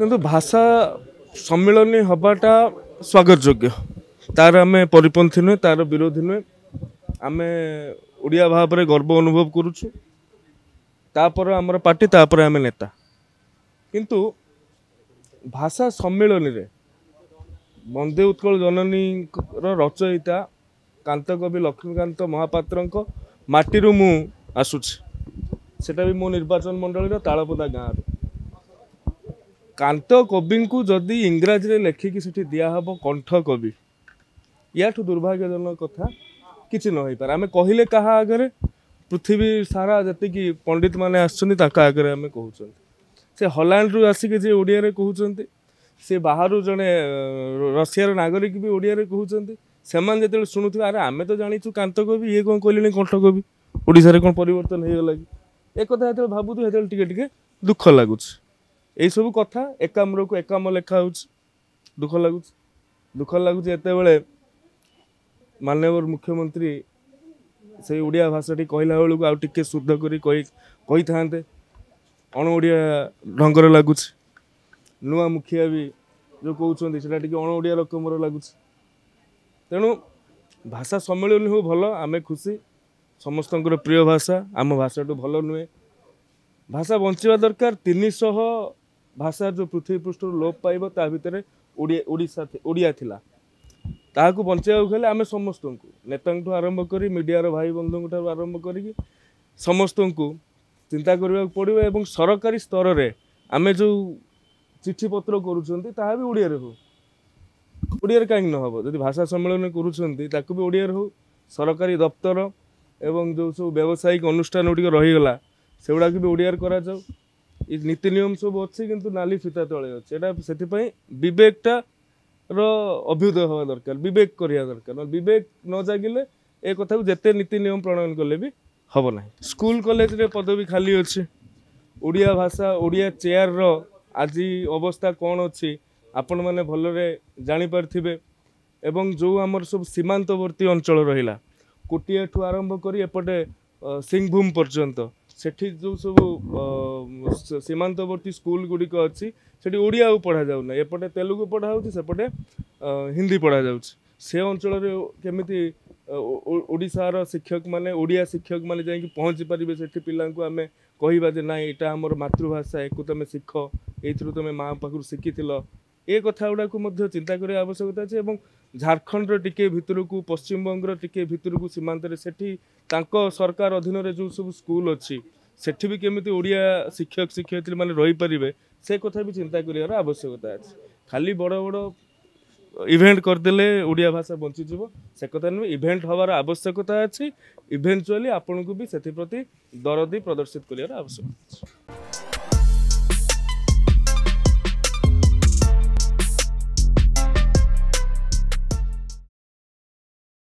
କିନ୍ତୁ ଭାଷା ସମ୍ମିଳନୀ ହେବାଟା ସ୍ୱାଗତ ଯୋଗ୍ୟ, ତାର ଆମେ ପରିପନ୍ଥୀ ନୁହେଁ, ତାର ବିରୋଧୀ ନୁହେଁ। ଆମେ ଓଡ଼ିଆ ଭାବରେ ଗର୍ବ ଅନୁଭବ କରୁଛୁ। ତାପରେ ଆମର ପାର୍ଟି, ତାପରେ ଆମେ ନେତା। କିନ୍ତୁ ଭାଷା ସମ୍ମିଳନୀରେ ବନ୍ଦେ ଉତ୍କଳ ଜନନୀର ରଚୟିତା କାନ୍ତକବି ଲକ୍ଷ୍ମୀକାନ୍ତ ମହାପାତ୍ରଙ୍କ ମାଟିରୁ ମୁଁ ଆସୁଛି, ସେଟା ବି ମୋ ନିର୍ବାଚନ ମଣ୍ଡଳୀର ତାଳପଦା ଗାଁରୁ। କାନ୍ତ କବିଙ୍କୁ ଯଦି ଇଂରାଜୀରେ ଲେଖିକି ସେଠି ଦିଆହେବ କଣ୍ଠ କବି, ୟାଠୁ ଦୁର୍ଭାଗ୍ୟଜନକ କଥା କିଛି ନ ହେଇପାରେ। ଆମେ କହିଲେ କାହା ଆଗରେ? ପୃଥିବୀ ସାରା ଯେତିକି ପଣ୍ଡିତମାନେ ଆସିଛନ୍ତି ତାଙ୍କ ଆଗରେ ଆମେ କହୁଛନ୍ତି। ସେ ହଲାଣ୍ଡରୁ ଆସିକି ଯିଏ ଓଡ଼ିଆରେ କହୁଛନ୍ତି, ସେ ବାହାରୁ ଜଣେ ରଷିଆର ନାଗରିକ ବି ଓଡ଼ିଆରେ କହୁଛନ୍ତି, ସେମାନେ ଯେତେବେଳେ ଶୁଣୁଥିବେ, ଆରେ ଆମେ ତ ଜାଣିଛୁ କାନ୍ତ କବି, ଇଏ କ'ଣ କହିଲେଣି କଣ୍ଠ କବି, ଓଡ଼ିଶାରେ କ'ଣ ପରିବର୍ତ୍ତନ ହେଇଗଲା କି? ଏ କଥା ଯେତେବେଳେ ଭାବୁଥିବେ ସେତେବେଳେ ଟିକେ ଟିକେ ଦୁଃଖ ଲାଗୁଛି। ଏଇସବୁ କଥା ଏକାମ୍ରକୁ ଏକାମ ଲେଖା ହେଉଛି, ଦୁଃଖ ଲାଗୁଛି। ଦୁଃଖ ଲାଗୁଛି ଯେତେବେଳେ ମାନ୍ୟବର ମୁଖ୍ୟମନ୍ତ୍ରୀ ସେଇ ଓଡ଼ିଆ ଭାଷାଟି କହିଲା ବେଳକୁ ଆଉ ଟିକେ ଶୁଦ୍ଧ କରି କହିଥାନ୍ତେ, ଅଣ ଓଡ଼ିଆ ଢଙ୍ଗରେ ଲାଗୁଛି। ନୂଆ ମୁଖିଆ ବି ଯେଉଁ କହୁଛନ୍ତି ସେଇଟା ଟିକେ ଅଣ ଓଡ଼ିଆ ରକମର ଲାଗୁଛି। ତେଣୁ ଭାଷା ସମ୍ମିଳନୀ ହଉ ଭଲ, ଆମେ ଖୁସି। ସମସ୍ତଙ୍କର ପ୍ରିୟ ଭାଷା, ଆମ ଭାଷାଠୁ ଭଲ ନୁହେଁ। ଭାଷା ବଞ୍ଚିବା ଦରକାର। 300 ଭାଷା ଯେଉଁ ପୃଥିବୀ ପୃଷ୍ଠରୁ ଲୋପ ପାଇବ ତା ଭିତରେ ଓଡ଼ିଶା ଓଡ଼ିଆ ଥିଲା। ତାହାକୁ ବଞ୍ଚାଇବାକୁ ହେଲେ ଆମେ ସମସ୍ତଙ୍କୁ, ନେତାଙ୍କଠୁ ଆରମ୍ଭ କରି ମିଡ଼ିଆର ଭାଇ ବନ୍ଧୁଙ୍କ ଠାରୁ ଆରମ୍ଭ କରିକି ସମସ୍ତଙ୍କୁ ଚିନ୍ତା କରିବାକୁ ପଡ଼ିବ। ଏବଂ ସରକାରୀ ସ୍ତରରେ ଆମେ ଯେଉଁ ଚିଠିପତ୍ର କରୁଛନ୍ତି ତାହା ବି ଓଡ଼ିଆରେ ହଉ। ଓଡ଼ିଆରେ କାହିଁକି ନ ହେବ? ଯଦି ଭାଷା ସମ୍ମିଳନୀ କରୁଛନ୍ତି ତାକୁ ବି ଓଡ଼ିଆରେ ହଉ। ସରକାରୀ ଦପ୍ତର ଏବଂ ଯେଉଁ ସବୁ ବ୍ୟବସାୟିକ ଅନୁଷ୍ଠାନ ଗୁଡ଼ିକ ରହିଗଲା ସେଗୁଡ଼ାକୁ ବି ଓଡ଼ିଆରେ କରାଯାଉ। ଏ ନୀତି ନିୟମ ସବୁ ଅଛି, କିନ୍ତୁ ନାଲି ଫିତା ତଳେ ଅଛି। ଏଇଟା ସେଥିପାଇଁ ବିବେକଟାର ଅଭ୍ୟୁଦୟ ହେବା ଦରକାର, ବିବେକ କରିବା ଦରକାର। ନହେଲେ ବିବେକ ନ ଜାଗିଲେ ଏ କଥାକୁ ଯେତେ ନୀତି ନିୟମ ପ୍ରଣୟନ କଲେ ବି ହେବ ନାହିଁ। ସ୍କୁଲ କଲେଜରେ ପଦବୀ ଖାଲି ଅଛି। ଓଡ଼ିଆ ଭାଷା, ଓଡ଼ିଆ ଚେୟାରର ଆଜି ଅବସ୍ଥା କ'ଣ ଅଛି ଆପଣମାନେ ଭଲରେ ଜାଣିପାରିଥିବେ। ଏବଂ ଯେଉଁ ଆମର ସବୁ ସୀମାନ୍ତବର୍ତ୍ତୀ ଅଞ୍ଚଳ ରହିଲା, କୋଟିଆଠୁ ଆରମ୍ଭ କରି ଏପଟେ ସିଂଭୂମ ପର୍ଯ୍ୟନ୍ତ, ସେଠି ଯେଉଁ ସବୁ ସୀମାନ୍ତବର୍ତ୍ତୀ ସ୍କୁଲ ଗୁଡ଼ିକ ଅଛି ସେଠି ଓଡ଼ିଆ ଆଉ ପଢ଼ାଯାଉନାହିଁ। ଏପଟେ ତେଲୁଗୁ ପଢ଼ା ହେଉଛି, ସେପଟେ ହିନ୍ଦୀ ପଢ଼ାଯାଉଛି। ସେ ଅଞ୍ଚଳରେ କେମିତି ଓଡ଼ିଶାର ଶିକ୍ଷକମାନେ, ଓଡ଼ିଆ ଶିକ୍ଷକମାନେ ଯାଇକି ପହଞ୍ଚି ପାରିବେ? ସେଠି ପିଲାଙ୍କୁ ଆମେ କହିବା ଯେ ନାଇଁ ଏଇଟା ଆମର ମାତୃଭାଷା, ଏକୁ ତୁମେ ଶିଖ, ଏଇଥିରୁ ତୁମେ ମା ପାଖରୁ ଶିଖିଥିଲ। ଏ କଥା ଗୁଡ଼ାକୁ ମଧ୍ୟ ଚିନ୍ତା କରିବା ଆବଶ୍ୟକତା ଅଛି। ଏବଂ ଝାଡ଼ଖଣ୍ଡର ଟିକେ ଭିତରକୁ, ପଶ୍ଚିମବଙ୍ଗର ଟିକେ ଭିତରକୁ ସୀମାନ୍ତରେ, ସେଠି ତାଙ୍କ ସରକାର ଅଧୀନରେ ଯେଉଁ ସବୁ ସ୍କୁଲ ଅଛି ସେଠି ବି କେମିତି ଓଡ଼ିଆ ଶିକ୍ଷକ ଶିକ୍ଷୟିତ୍ରୀ ମାନେ ରହିପାରିବେ ସେ କଥା ବି ଚିନ୍ତା କରିବାର ଆବଶ୍ୟକତା ଅଛି। ଖାଲି ବଡ଼ ବଡ଼ ଇଭେଣ୍ଟ କରିଦେଲେ ଓଡ଼ିଆ ଭାଷା ବଞ୍ଚିଯିବ ସେ କଥା ନୁହେଁ। ଇଭେଣ୍ଟ ହେବାର ଆବଶ୍ୟକତା ଅଛି, ଇଭେଣ୍ଚୁଆଲି ଆପଣଙ୍କୁ ବି ସେଥିପ୍ରତି ଦରଦି ପ୍ରଦର୍ଶିତ କରିବାର ଆବଶ୍ୟକତା ଅଛି।